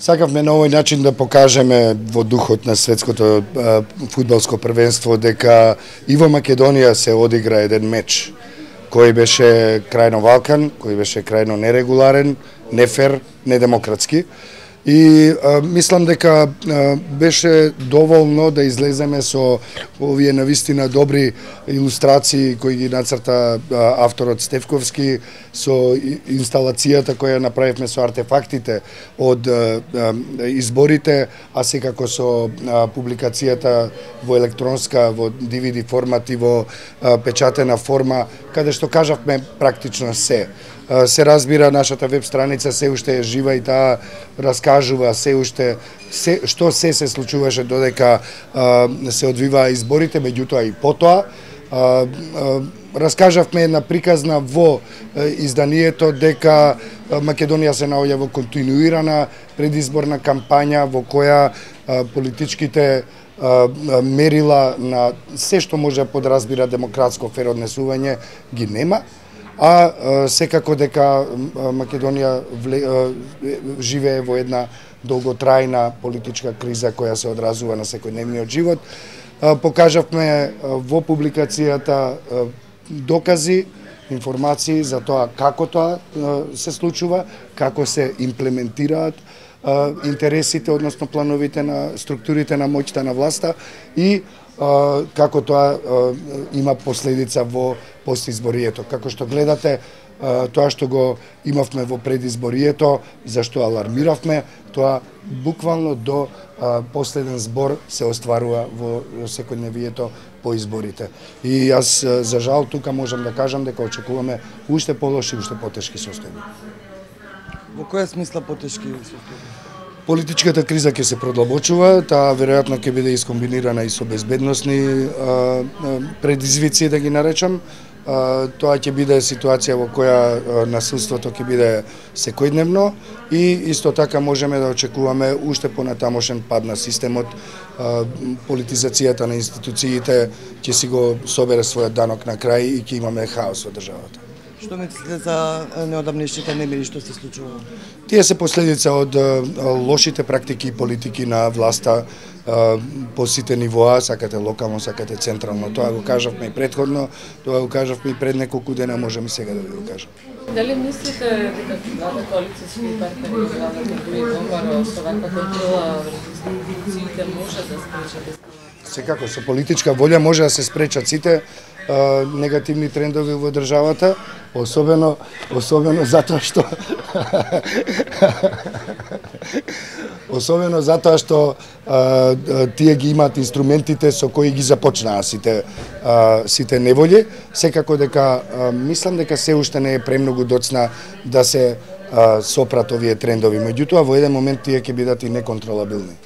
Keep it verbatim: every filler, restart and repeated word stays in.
Сакавме на овој начин да покажеме во духот на светското фудбалско првенство дека и во Македонија се одигра еден меч кој беше крајно валкан, кој беше крајно нерегуларен, нефер, недемократски. И а, мислам дека а, беше доволно да излеземе со овие навистина добри илустрации кои ги нацрта а, авторот Стефковски, со инсталацијата која направивме со артефактите од а, а, изборите, а секако со а, публикацијата во електронска, во ди ви ди формат и во а, печатена форма, каде што кажавме практично се. Се разбира, нашата веб страница се уште е жива и таа раскажува се уште се, што се се случуваше додека а, се одвиваа изборите, меѓутоа и потоа. А, а, раскажавме една приказна во а, изданието дека Македонија се наоѓа во континуирана предизборна кампања во која а, политичките а, мерила на се што може да подразбира демократско фер однесување ги нема. А секако дека Македонија живее во една долготрајна политичка криза која се одразува на секојдневниот живот. Покажавме во публикацијата докази, информации за тоа како тоа се случува, како се имплементираат интересите, односно плановите на структурите на моќта на власта и како тоа има последица во постизборието. Како што гледате, тоа што го имавме во предизборието, зашто алармиравме, тоа буквално до последен збор се остварува во секојдневието по изборите. И јас, за жал, тука можам да кажам дека очекуваме уште полоши, уште потешки состојби. Во која смисла потешки состојби? Политичката криза ќе се продлабочува, таа веројатно ќе биде искомбинирана и со безбедносни а, предизвици, да ги наречам. А, тоа ќе биде ситуација во која насилството ќе биде секојдневно и исто така можеме да очекуваме уште понатамошен пад на системот, а, политизацијата на институциите ќе си го собере својот данок на крај и ќе имаме хаос во државата. Што мислите за неодамнешните немири што се случува? Тие се последица од лошите практики и политики на власта по сите нивоа, сакате локално, сакате централно. Тоа го кажавме и претходно, тоа го кажавме и пред неколку дена, можеме и сега да ви го кажам. Дали мислите дека двата коалициски партнери владата Груи Домбаро со ваква контрола врз институциите може да спречат ескалација? Секако, со политичка волја може да се спречат сите а, негативни трендови во државата, особено особено затоа што особено затоа што а, тие ги имаат инструментите со кои ги започнаа сите а, сите неволји. Секако дека а, мислам дека се уште не е премногу доцна да се а, сопрат овие трендови. Меѓутоа во еден момент тие ќе бидат и неконтролабилни.